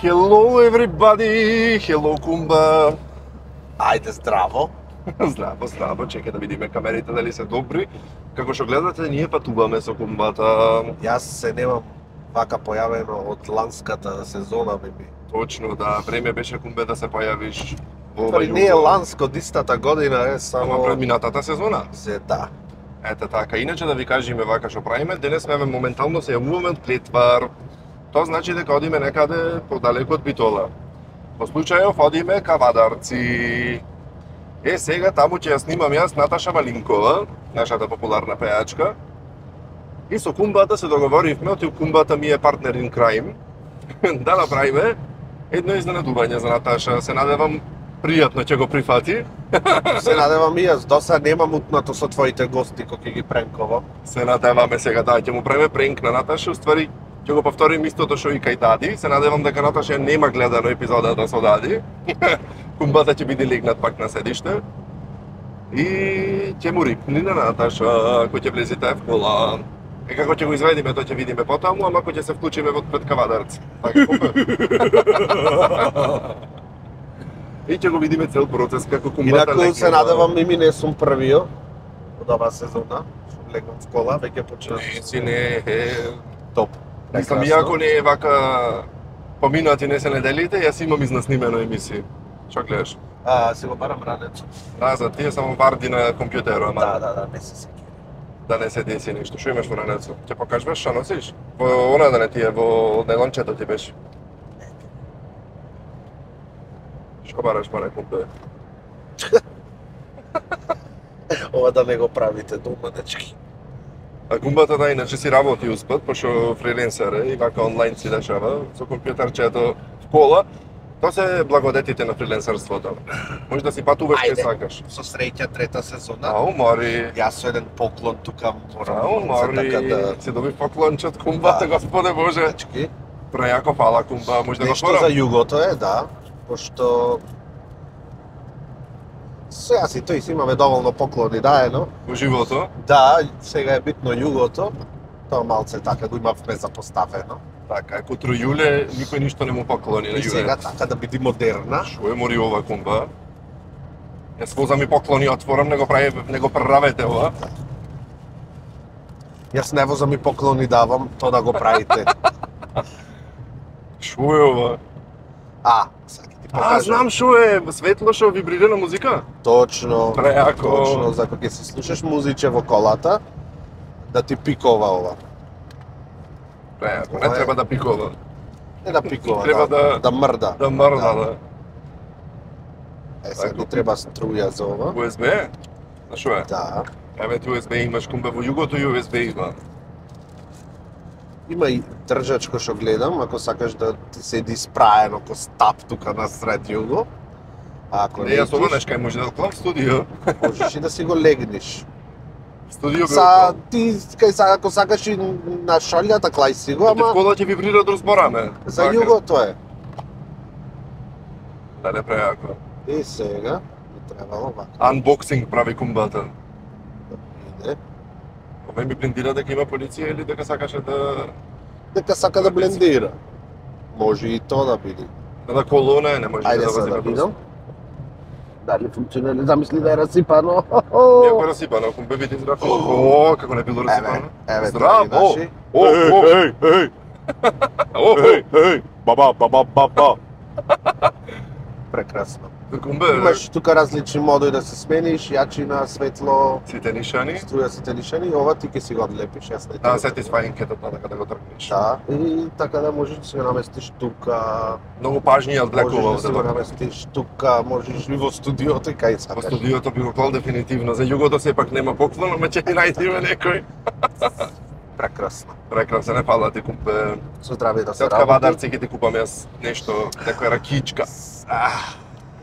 Hello everybody, hello Кумба. Ајде здраво. Здраво, чекај да видиме камерите дали се добри. Како што гледате, ние патуваме со Кумбата. Јас се немам вака појавено од ланската сезона, беби. Точно, да, време беше Кумбе да се појавиш во ова Не е ланско, дистата година е само... Ама пред минатата сезона. Да. Ете така, иначе да ви кажеме вака што правиме, денес сме моментално се јавуваме од Клетвар. Тоа значи дека одиме некаде подалеку од Битола. Во случајов одиме ка Вадарци. Сега таму ќе ја снимам јас Наташа Малинкова, нашата популарна пејачка. И со Кумбата се договоривме, оти Кумбата ми е партнер in crime, да направиме едно изненадување за Наташа. Се надевам пријатно ќе го прифати. Се надевам и јас, досад немам утнато со твоите гости кои ќе ги пренковам. Се надеваме сега, да, ќе му правиме пренк на Наташа, уствари ќе го повторим истото што и кај Дади. Се надевам дека Наташа нема гледано епизодата со Дади. Кумбата ќе биде легнат пак на седиште. И ќе му рипни на Наташа, ако ќе влезете в кола. И како ќе го изведиме, тоа ќе видиме потаму, ама ако ќе се вклучиме во пред Кавадарци. Така и ќе го видиме цел процес како Кумбата Инаку се надевам и ми не сум првиот од оваа сезона. Што легнам в кола, веќе почнав. Си не е Топ. Мислам, иако не е вака поминати не се неделите, јас имам изнаснимено емисија. Што гледаш? Си го барам ранецо. Да, за тие само варди на компјутерот, ама Да, не се сеќавам. да не се деси ништо. Што имаш во ранецо? Ќе покажуваш што носиш? Во она да не ти е, во најлончето ти беше. Што бараш паре кумпе? Ова да не го правите дома, дечки. А Кумбата да иначе си работи успат, пошто фриленсер е и вака онлайн си дешава со компјутерчето в кола. Тоа се благодетите на фриленсерството. Може да си патуваш кај сакаш. Со среќа трета сезона. Ау, Мари. Јас со еден поклон тука морам Ау, Мари. да... Си доби поклонче од Кумбата, Господе Боже. Дечки. Прејако фала Кумба, може да го Нешто отворам? за југото е, да, пошто сега си тој си имаме доволно поклони даено. Во живото. Да, сега е битно југото. Тоа малце така го имавме запоставено. Така, ако Тројуле никој ништо не му поклони на И Јуле. сега така да биде модерна. Што е мори ова Кумба? Јас возам и поклони отворам, не го преравете ова. Јас не возам и поклони давам, тоа да го правите. Што е ова? Сега ќе ти покажам. Знам што е, светло што вибрира на музика. Точно. Преако. Точно, за кога ќе си слушаш музиче во колата, да ти пикова ова. Преако, не треба да пикова. Не да пикова, Треба да мрда. Да мрда, да. Сега ни треба струја за ова. USB? На што е? Да. Еве ти USB имаш Кумбе во југото и USB има. Има и држачко што гледам, ако сакаш да ти седи спраено ко стап тука на сред југо. А ако Не, јас ова нешкај може да клам студио. можеш и да си го легнеш. Студио Са, ти, ако сакаш и на шалјата, клај си го, Ама... ама кола ќе вибрира да разбораме. за југото е. Да не преако. И сега, би требало вака. Unboxing прави Кумбата. Иде. Ова ми блиндира дека има полиција или дека сакаше да... Дека сака да блендира. Може и тоа да биде. Да колона не може Ајде да сега вози да на видам. Дали функционира, замисли да е расипано. Иако е расипано, Кумбе види здраво. О, како не било расипано. Еве, Здраво! наши. О, Ба. Прекрасно. Кумбе, Имаш тука различни модои да се смениш, јачина, светло, сите нишани. струја сите лишени, ова ти ќе си го одлепиш, јас не Да, satisfying кетот така да го тргнеш. Да, и така да можеш да си го наместиш тука, Многу пажни ја одвлекува можеш да си го наместиш тука, можеш и во студиото и кај Во сакаш. студиото би го клал дефинитивно. За југото сепак нема поклон, ама ќе ни најдеме некој. Прекрасно. Прекрасно, не фала ти Кумбе. Со здравје да Се се од работи. Кавадарци ќе ти купам јас нешто, некоја ракичка.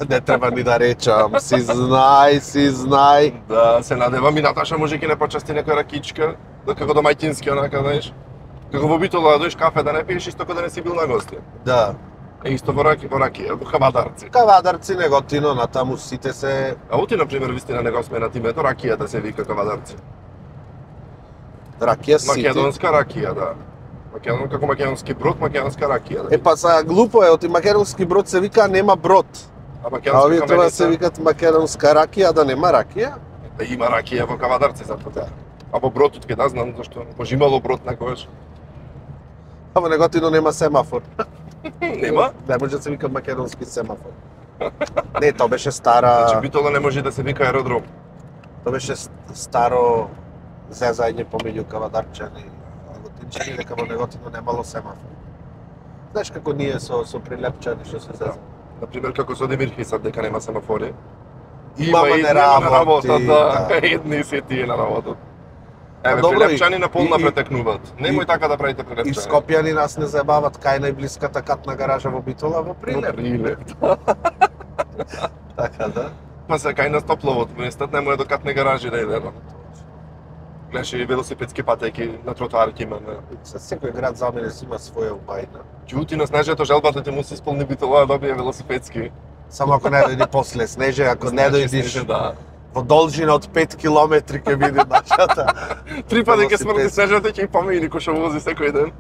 Не треба ни да речам, си знај. Да, се надевам и Наташа може ќе не почасти некоја ракичка, да како домаќински онака, знаеш. Како во Битола да дојдеш кафе да не пиеш исто како да не си бил на гости. Да. Е исто во ракија, во Кавадарци. Кавадарци неготино, натаму сите се... А оти, например, вистина не го сменат името, ракијата се вика Кавадарци. Ракија сите. Македонска ракија, да. Како македонски брод, македонска ракија. Па са глупо е, оти македонски брод се вика нема брод. А А македонска овие треба да се каменица, викат македонска ракија, да нема ракија. да има ракија во Кавадарци затоа. А во бродот ке да знам зашто може имало брод некогаш. А во Неготино нема семафор. Нема? Не може да се вика македонски семафор. Не, тоа беше стара, Значи Битола не може да се вика аеродром. тоа беше старо зезање помеѓу кавадарчани и неготинчани дека во Неготино немало семафор. Знаеш како ние со прилепчани што се зезаме. Например, како со Демирхисат, дека нема семафори. Мама не нема на работи, работа, да. да. Едни се тие на работа. Еве, Добро, прилепчани на полна и- претекнуваат. Немој така да правите И прилепчани. Скопјани нас не заебават кај најблиската катна гаража во Битола во Прилеп. Прилеп. Така да. Па се кај на Стопловот, местот не може до катне гаражи да иде. Гледаш и велосипедски патеки на тротоарки има. Со секој град за мене си има своја убајна. Ѓути на Снежето желбата ти му се исполни Битола да добие велосипедски. Само ако не дојди после Снеже, ако не Значи, дојдиш Снеже, да. во должина од 5 километри ќе биде нашата. Три пати ќе смрти велосипедски. Снежето ќе и помини кој што вози секој ден.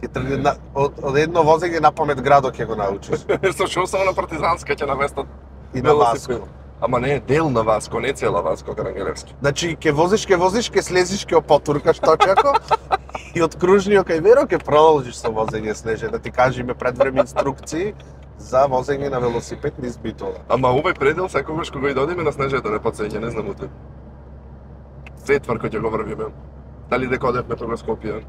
Ќе тргне од едно возење на памет градот ќе го научиш. Со шо само на Партизанска ќе наместат И на велосипед. Васко. Ама не, дел на Васко, не цела Васко Карангелевски. Значи ќе возиш, ќе слезиш, ќе опотуркаш точако и од кружниот кај Веро ќе продолжиш со возење Снеже, да ти кажеме предвреме инструкции за возење на велосипед низ Битола. Ама овој предел секогаш кога и додиме на Снежето не подсеќа, не знам уте. Сетвар кој ќе го врвиме. Дали дека одевме тога Скопје?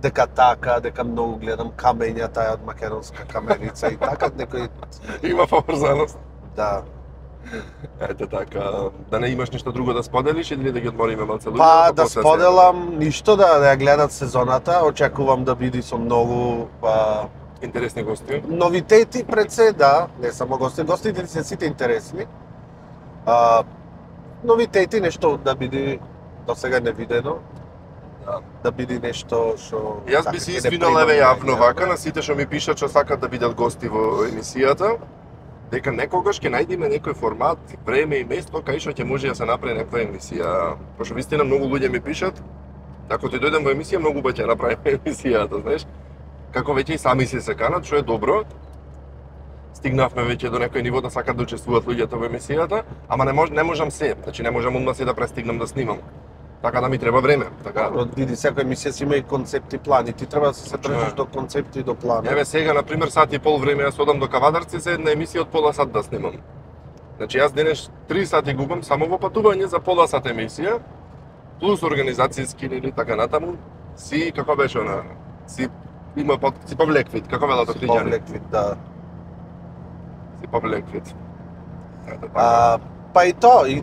Дека така, дека многу гледам камења таа од македонска каменица и така некој Има поврзаност. да. Ете така, да не имаш ништо друго да споделиш или да ги одмориме малце луѓе? Па да споделам ништо да ја гледат сезоната, очекувам да биде со многу Интересни гости. новитети пред се, да, не само гости, гостите се сите интересни. Новитети, нешто да биде до сега невидено. Да. Да биде нешто што Јас така, би се ќе не извинал примам еве јавно луѓе. вака на сите што ми пишат што сакат да бидат гости во емисијата, дека некогаш ќе најдеме некој формат, време и место кај што ќе може да се направи некоја емисија. Пошто вистина многу луѓе ми пишат, ако ти дојдем во емисија, многу ќе направиме емисијата, знаеш? Како веќе и сами се канат, што е добро. Стигнавме веќе до некој ниво да сакат да учествуваат луѓето во емисијата, ама не можам се, значи не можам одма се да престигнам да снимам. Така да ми треба време, така. Види, секоја емисија си има и концепти, плани, ти треба да се Точно држиш е. до концепти и до плани. Еве сега, на пример, сат и пол време јас одам до Кавадарци за една емисија од пола сат да снимам. Значи јас денес 3 сати губам само во патување за пола сат емисија, плюс организацијски или така натаму, си како беше она, си има си повлеквит, како велат Си Охриѓани. повлеквит, да. Си повлеквит. Ето така. Па и тоа, и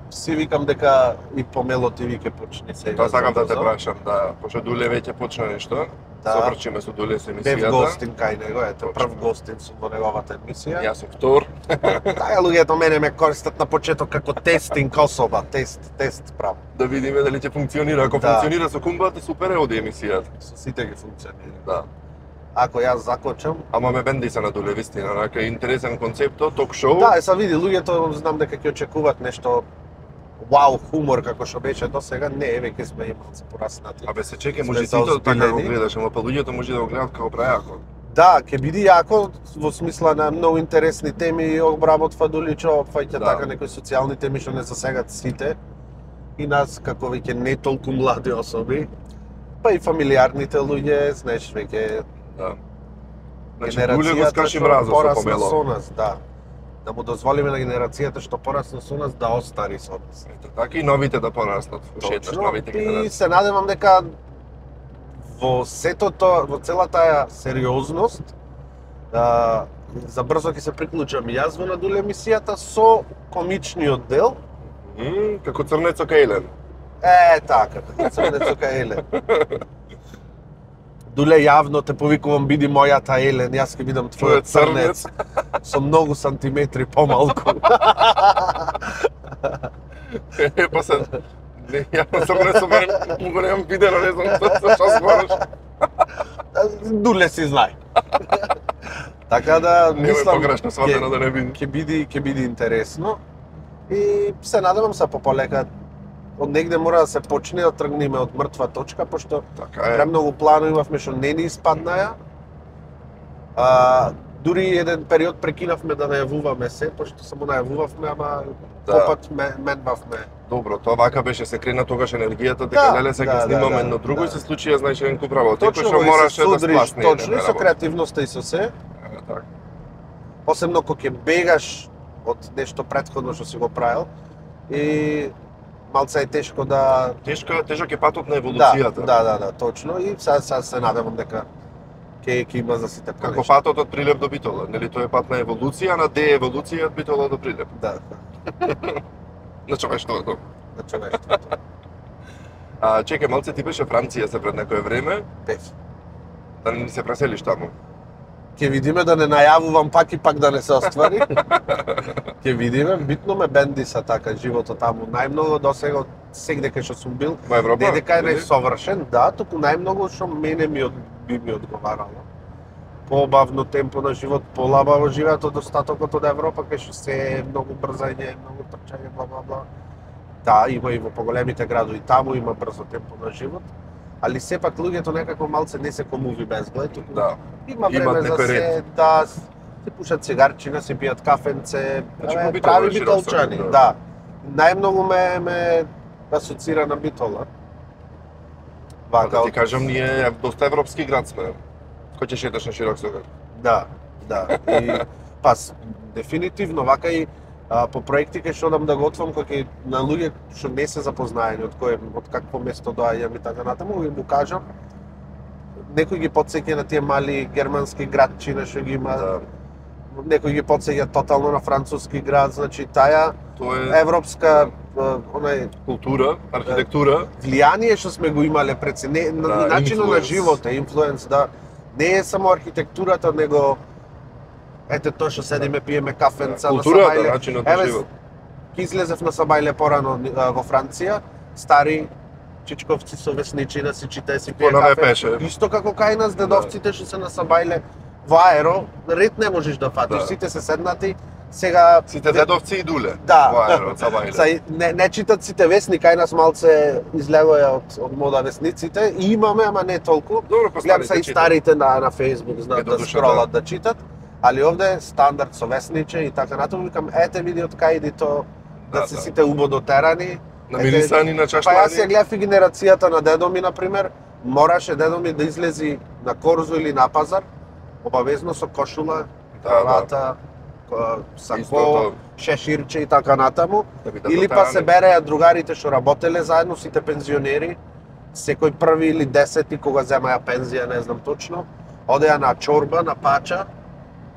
си викам дека и помело ти ви ќе почне сега. Тоа сакам да те забрзо. прашам, да, пошто Дуле веќе почна нешто. Да. Собрчиме со Дуле со Бев емисијата. гостин кај него, ето, Точно. прв гостин сум во неговата емисија. Јас сум втор. Таа луѓето мене ме користат на почеток како тестинг особа, тест прав. Да видиме дали ќе функционира. Ако Да. функционира со кумбата, супер е оди емисијата. Со сите ги функционира. Да. Ако јас закочам, Ама ме бенди се на Дуле, вистина, рака интересен концепто, ток-шоу. да, са види луѓето знам дека ќе очекуваат нешто вау хумор како што беше до сега, не, веќе сме и малце пораснати. Абе се чекай, Сме може ти тоа така го заозбилени. гледаш, ама па луѓето може да го гледат како прајако. Да, ќе биде јако во смисла на многу интересни теми, обработва Дуличо, опфаќа Да. така некои социјални теми што не засегат сите. И нас како веќе не толку млади особи, па и фамилиарните луѓе, знаеш, веќе Да. Значи Дуле го скрши што мразот со порасна помело. со нас, да. Да му дозволиме на генерацијата што порасна со нас да остари со нас. Ето така и новите да пораснат, ушеташ Точно, новите и генерации. се надевам дека во сето тоа, во целата ја сериозност, за брзо ќе се приклучам и јас во на Дуле емисијата со комичниот дел. Како Црнецо Кајлен. Така, како Црнецо кај Елен. Дуле јавно те повикувам, биди мојата Елен, јас ќе бидам твојот црнец. Со многу сантиметри помалку. Па се, не, ја на Црнецо барем го немам видено, не знам што збориш. Дуле си знае. Така да Немој мислам погрешно сватено да не биде. ќе биде интересно. И се надевам се полека од негде мора да се почне да тргнеме од мртва точка, пошто Така е. премногу планови имавме што не ни испаднаја. Дури еден период прекинавме да најавуваме се, пошто само најавувавме, ама попат менбавме. Добро, тоа вака беше, се крена тогаш енергијата, дека леле се ќе снимаме едно друго и се случија, знаеш, еден куп работа. Точно, што мораше да спласне. точно, и со креативноста и со се. Така. Посебно кога ќе бегаш од нешто претходно што си го правил и малце е тешко да Тежок е патот на еволуцијата. Да, точно, и сега се надевам дека ќе има за сите Како понешто. патот од Прилеп до Битола, нели тоа е пат на еволуција, на дееволуција од Битола до Прилеп. Да, На човештвото. на човештвото. Чекај, малце ти беше Франција се пред некое време, Пев. да не се преселиш таму. Ќе видиме да не најавувам пак и пак да не се оствари. Ќе видиме, битно ме бенди са така животот таму. Најмногу досега од сегде кај што сум бил, Во Европа? не дека е или? несовршен, да, туку најмногу што мене би ми одговарало. Побавно темпо на живот, полабаво живеат од остатокот од Европа, кај што се е многу брзање, многу трчање, бла бла бла. Да, има и во поголемите градови, таму има брзо темпо на живот, али сепак луѓето некако малце не се комуви безглед, туку Да. има Имат време за некој се, ред. да, се пушат цигарчина, се пијат кафенце, Значи, абе, по Битола прави е широк битолчани, сред, да. Најмногу ме асоцира на Битола. Да ти кажам, ние доста европски град сме. Кој ќе шеташ на широк север? Да. И пас дефинитивно вака и по проекти кај што одам да го отвам кој на луѓе што не се запознаени од какво место доаѓам и така натаму, ви му кажам. Некој ги потсеќа на тие мали германски градчина што ги има. Да. Некој ги потсеќа тотално на француски град, значи таа Тоа е европска онај култура, архитектура. влијание што сме го имале пред се, не, на начинот на инфлуенс. живот, инфлуенс, да. Не е само архитектурата, него ете тоа што седиме пиеме кафенца на Културата, Сабајле. начинот на живот. Ке излезев на Сабајле порано во Франција, стари чичковци со весничина си читае си пие Понаве кафе. пеше. Исто како кај нас дедовците што се на Сабајле во аеро, ред не можеш да фатиш, Да. сите се седнати. Сега Сите дедовци и дуле. Да. Во аерот, Сабајле. Са, не читат сите весни, кај нас малце излегоја од мода весниците. И имаме, ама не толку. Добро, по Гледам се и старите старите на Facebook знаат Ето да душа, скролат да читат. Али овде стандард со весниче и така натаму викам ете види од кај иди то да Да, се да. сите убодотерани. Намирисани на Па јас ја чашлани. гледав и генерацијата на дедо ми, например, мораше дедо ми да излези на корзо или на пазар, обавезно со кошула, кравата, Исто сако, тоа. шеширче и така натаму. Да би да Или па се дотерани. береа другарите што работеле заедно, сите пензионери, секој први или десети кога земаја пензија, не знам точно, одеа на чорба, на пача.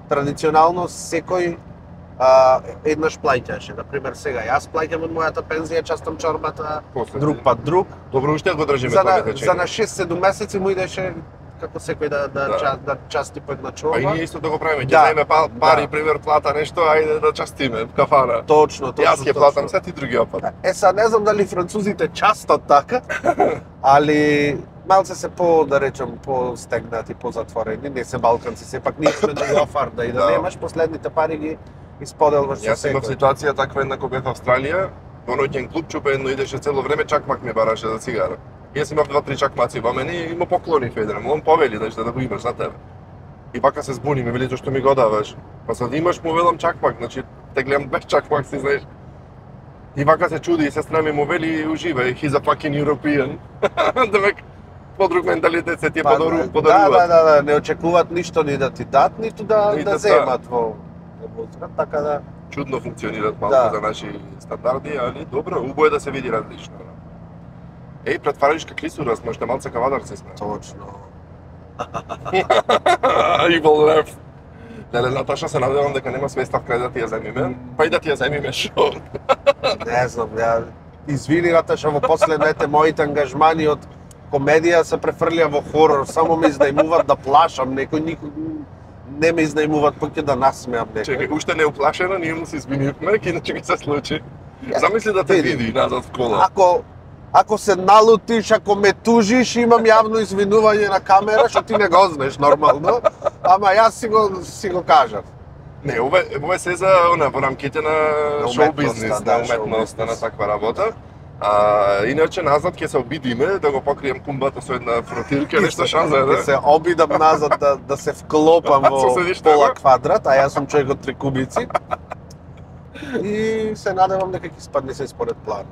Традиционално секој еднаш плаќаше. Например, сега јас плаќам од мојата пензија, частам чорбата, После друг ти. пат друг. Добро, уште го држиме За тоа на, течење. за на 6-7 месеци му идеше како секој Да. да части по една Па чорба. и ние исто да го правиме, ќе Да. заеме пари, Да. пример, плата нешто, ајде да частиме в кафана. Точно. Јас ќе платам се, ти други опат. Сега не знам дали французите частат така, али малце се да речем, по-стегнати, по-затворени, не се балканци, сепак ние сме до офарда и да Да. немаш последните пари ги исподелваш со Јас имав секој. ситуација таква една кога бев во Австралија, во ноќен клуб чупе едно идеше цело време, чакмак ми бараше за цигара. Јас имав 2-3 чакмаци во мене и му поклонив еден, он повели да го имаш за тебе. И вака се збуни, ми вели зашто ми го даваш. Па сад имаш му велам чакмак, значи те гледам без чакмак си знаеш. И вака се чуди и сестра ми му вели уживај, he's a fucking European. Демек подруг менталитет се ти Па, подаруваат. да, не очекуваат ништо ни да ти дат, ниту да Ниту да земат во возврат, така да. Чудно функционираат малку Да. за наши стандарди, али добро, убаво е да се види различно. Еј, претваришка клисура сме, уште малце кавадарци сме. Точно. Evil ref. Леле, Наташа, се надевам дека нема свестав крај да ти ја земиме, па и да ти ја земиме шо. Не знам, ја извини Наташа, во последните моите ангажмани од комедија се префрлија во хорор, само ме изнајмуваат да плашам некој, не ме изнајмуваат, па ќе да насмеам некој. Чекај, уште не уплашена, ние му се извинивме, иначе ќе се случи. Замисли да те Види. види назад в кола. Ако се налутиш, ако ме тужиш, имам јавно извинување на камера, што ти не го знаеш нормално, ама јас си го кажав. Не, ова е се за во рамките на На шоу уметноста, бизнес, да, на уметноста, шоу на бизнес. таква работа. Иначе назад ќе се обидиме да го покрием кумбата со една фротирка, нешто шанса е, да се обидам назад да се вклопам во пола квадрат, а јас сум човек од 3 кубици. И се надевам дека ќе спадне се според план.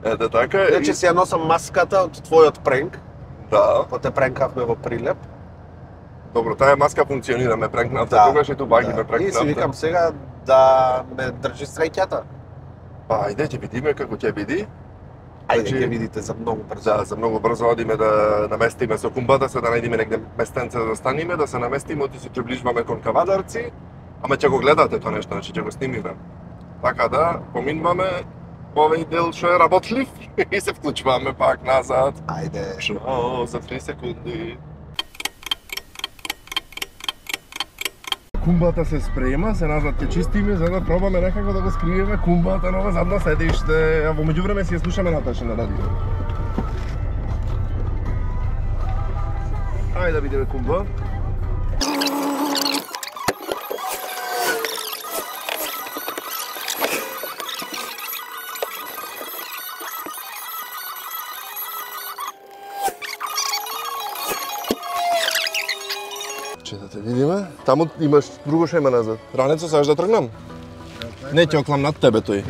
Ете така. Значи си ја носам маската од твојот пренк. Да. Па те пренкавме во Прилеп. Добро, таа маска функционира, ме пренкнавте, тогаш и тубаги ме пренкнавте. И си викам сега да ме држи среќата. Па, ајде, ќе видиме како ќе биди. Ајде, ќе видите за многу брзо. Да, за многу брзо одиме да наместиме со кумбата, се да најдеме негде местенце да станиме, да се наместиме, оти се приближуваме кон Кавадарци, ама ќе го гледате тоа нешто, значи ќе го снимиме. Така да, поминуваме овој дел што е работлив и се вклучуваме пак назад. Ајде. Шо, за 3 секунди. Кумбата се спрема, се назад ќе чистиме за да пробаме некако да го скриеме кумбата на ова задно седиште, а во меѓувреме си ја слушаме Наташа на радио. Ајде да видиме кумба. Да те видиме. Таму имаш друго шема назад. Ранецо, сакаш да тргнам? Не ќе оклам над тебе тој.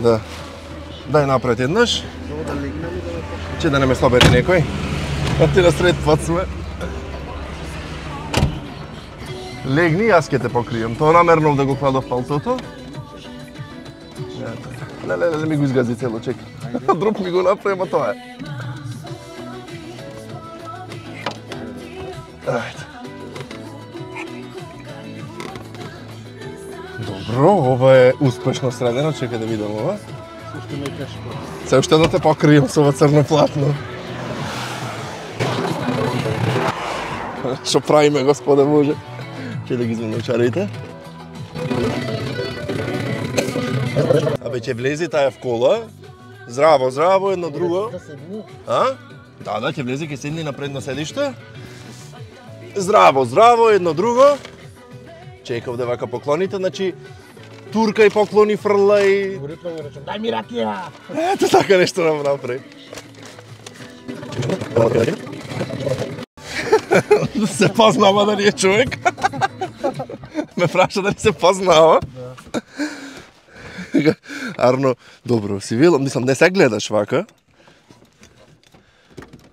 Да. Дај напред еднаш. Че да не ме слабери некој. А ти на сред пат сме. Легни, јас ќе те покриjem. Тоа намернав да го кладов палцото. Леле, ми го изгази цело, чека. Друг ми го направи, ама тоа е. Ајде. Добро, ова е успешно средено, чекај да видам ова. Сушто ме тешко. Се уште да те покриjem со ова црно платно. Што правиме, Господе Боже? Ќе да ги извадам чарите. Абе, ќе влези таа в кола. Здраво, здраво, едно друго. А? Да, ќе влезе, ќе седни на предно седиште. Здраво, здраво, едно друго. Чекав да вака поклоните, значи турка и поклони фрла и... Уритно ми речем, дај ми ракија! Ето така нешто нам направи. Се познава дали е човек. Ме праша дали се познава. Арно, добро, си велам, мислам, не се гледаш вака.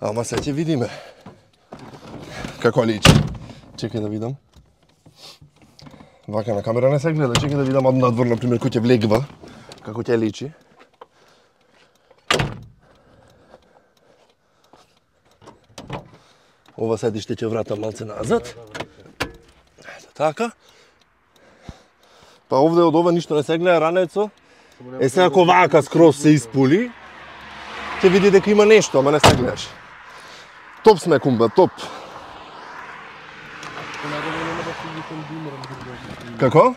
Ама се ќе видиме. Како личи? Чекај да видам. Вака на камера не се гледа, чекај да видам од надвор, например, кој ќе влегва, како ќе личи. Ова седиште ќе вратам малце назад. Ето така. Па овде од ова ништо не се гледа, ранецо. Е сега ако вака скроз се испули, ќе види дека има нешто, ама не се гледаш. Топ сме, кумба, топ. Како?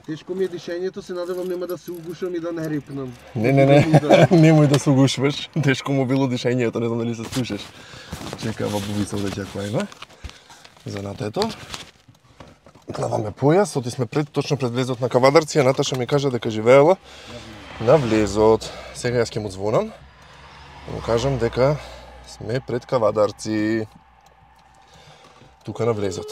Тешко ми е дишењето, се надевам нема да се угушам и да не рипнам. Не, немој да се угушваш. Тешко му било дишењето, не знам дали се слушаш. Чека, во бубисов да ќе клајме. За натето. Клаваме појас, оти сме точно пред влезот на Кавадарци, а Наташа ми кажа дека живеела на влезот. Сега јас ќе му звонам. Му кажам дека сме пред Кавадарци. Тука на влезот.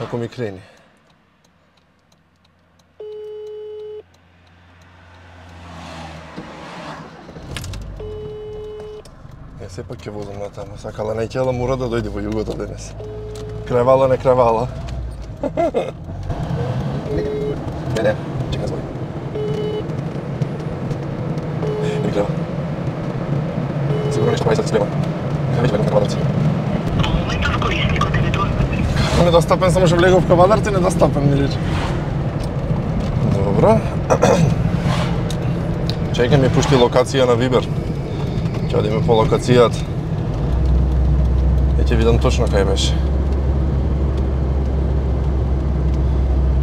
Ако ми крени. Сепак ќе возам натаму. Сакала најќела мора да дојде во југото денес. Кревала, не кревала. Не, чекай звони. Не крева. Сигурно нешто прави сад спрема. Кај веќе бегам Кавадарци. Моментов корисникот е недостапен. Недостапен, само што влегов в Кавадарци, недостапен ми рече. Добро. Чекай ми пушти локација на Вибер. Ќе одиме по локацијата. Ќе видам точно кај беше.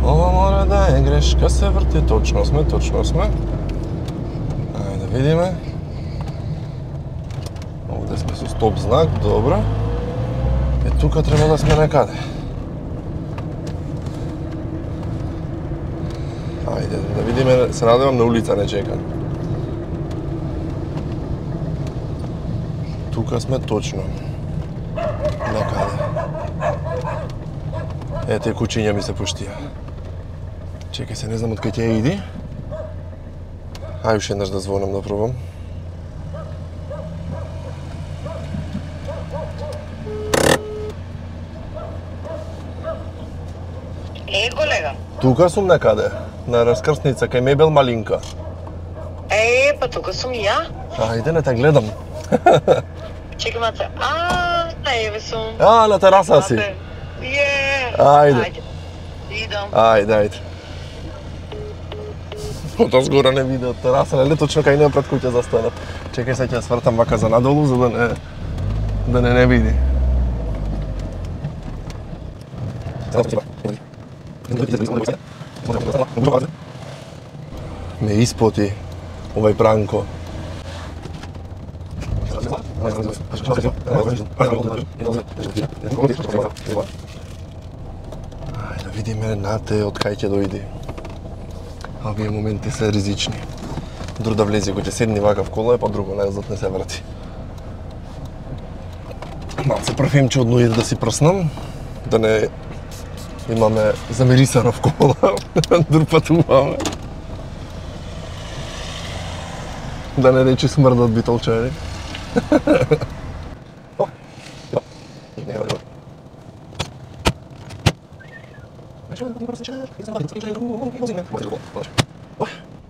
Ова мора да е грешка, се врти, точно сме. Ајде да видиме. Овде тука сме со стоп знак, добро. Тука треба да сме некаде. Ајде, да видиме, се надевам на улица не чекам. Тука сме точно. Некаде. Ете, кучиња ми се пуштија. Чекај се, не знам од кај ќе иди. Ај уште еднаш да звонам да пробам. Колега. Тука сум некаде, на раскрсница, кај мебел Малинка. Па тука сум и ја. Ајде, не те гледам. Чекам се. Еве сум. На тераса си. Ајде. Идам. Ајде. Од згора не виде од тераса, нели точно кај неа пред куќа застанав. Чекај се ќе свртам вака за надолу, за да не види. Ме испоти овај Бранко. Ајде да видиме нате од кај ќе дојди. Овие моменти се ризични. Друг да влезе кој ќе седни вака в кола, па друго назад не се врати. Малце парфемче од нојер да си прснам, да не имаме замирисана в кола, друг патуваме. Да не речи смрдат битолчари.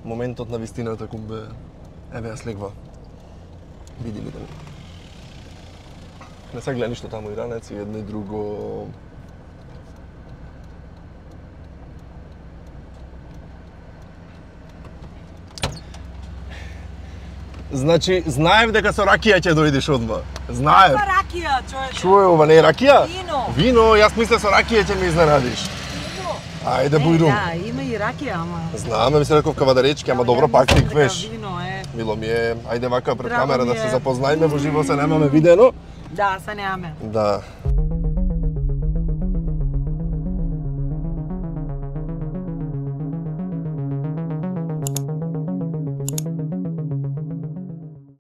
Моментот на вистината кумбе, еве ја слегва. Види ли да не се гледа ништо таму и ранец и едно и друго. Значи, знаев дека со ракија ќе дојдеш одма. Знаев. Каква ракија, човече? Што е ова, не е ракија? Вино. Вино, јас мислев со ракија ќе ме изненадиш. Ајде, бујрум. Да, има и ракија, ама. Знаме, мислев дека кавадаречки, ама добро пак ти квеш. Вино е. Мило ми е, ајде вака пред Драго камера ми да се е. запознаеме, во живо се немаме видено. Да, се немаме. Да.